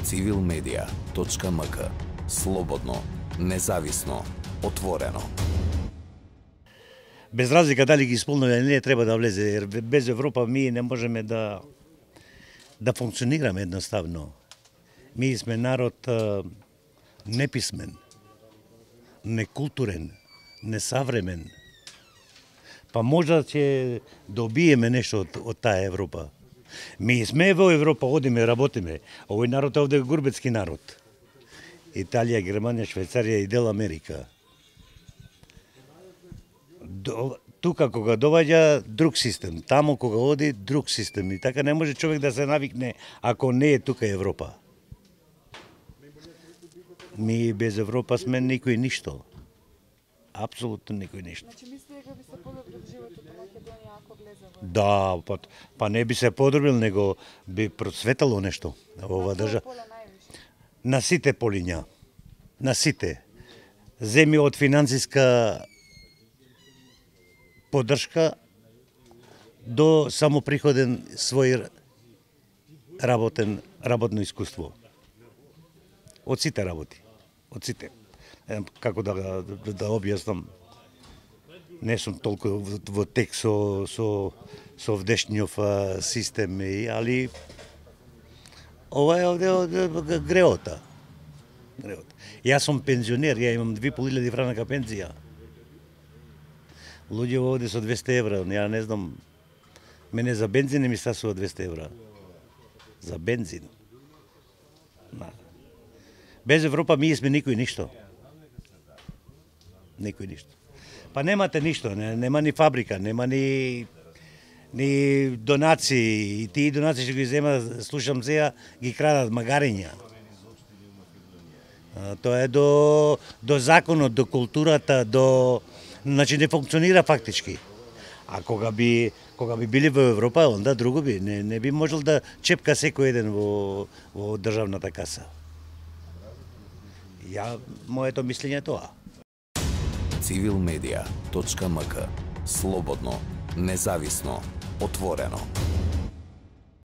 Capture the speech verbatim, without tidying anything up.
цивил медија точка ем ка. Слободно, независно, отворено. Без разлика дали ги исполнува или не, треба да влезе, jer без Европа ми не можеме да да функционираме едноставно. Ми сме народ а, неписмен, некултурен, несавремен. Па можда ќе добиеме нешто од, од таа Европа. Ми сме во Европа, одиме, работиме. Овој народ е овде гурбетски народ. Италија, Германија, Швајцарија и дел Америка. До, тука кога доваѓа друг систем, таму кога оди друг систем. И така не може човек да се навикне ако не е тука Европа. Ми без Европа сме никој ништо. Апсолутно никој ништо. Значи мислите дека би се подобрил животот во Македонија ако влезе во? Да, па, па не би се подобрил, него би процветало нешто во оваа држава. На сите полиња. На сите. Земи од финансиска поддршка до самоприходен свој работен работно искуство. Од сите работи. Од сите. Како да да, да објаснам, не сум толку во, во тек со со со вдешниот систем, али ова е овде од греота. Греота. Јас сум пензионер, ја имам две и пол илјади франака пензија. Луѓе овде со двесте евра, ја не знам. Мене за бензин не ми стасува двесте евра. За бензин. На. Без Европа ми сме никој ништо. Никој ништо. Па немате ништо, не, нема ни фабрика, нема ни ни донации, и тие донации што ги зема, слушам сега, ги крадат магариња. А, тоа е до до законот, до културата, до значи не функционира фактички. А кога би кога би били во Европа, онда друго би, не не би можел да чепка секој еден во во државната каса. Ја моето мислење е тоа. цивил медија точка ем ка. Слободно, независно, отворено.